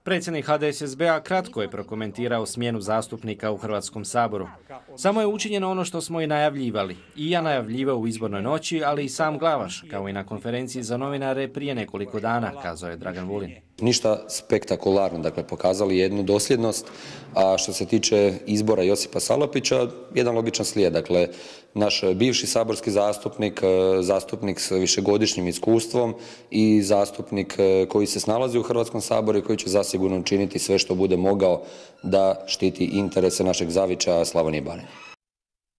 Predsjednik HDSSB-a kratko je prokomentirao smjenu zastupnika u Hrvatskom saboru. Samo je učinjeno ono što smo i najavljivali. I ja najavljivao u izbornoj noći, ali i sam Glavaš, kao i na konferenciji za novinare prije nekoliko dana, kazao je Dragan Vulin. Ništa spektakularno, dakle pokazali jednu dosljednost, a što se tiče izbora Josipa Salapića, jedan logičan slijed, dakle naš bivši saborski zastupnik, zastupnik s višegodišnjim iskustvom i zastupnik koji se snalazi u Hrvatskom saboru i koji će zasigurno učiniti sve što bude mogao da štiti interese našeg zavičaja Slavonije i Baranje.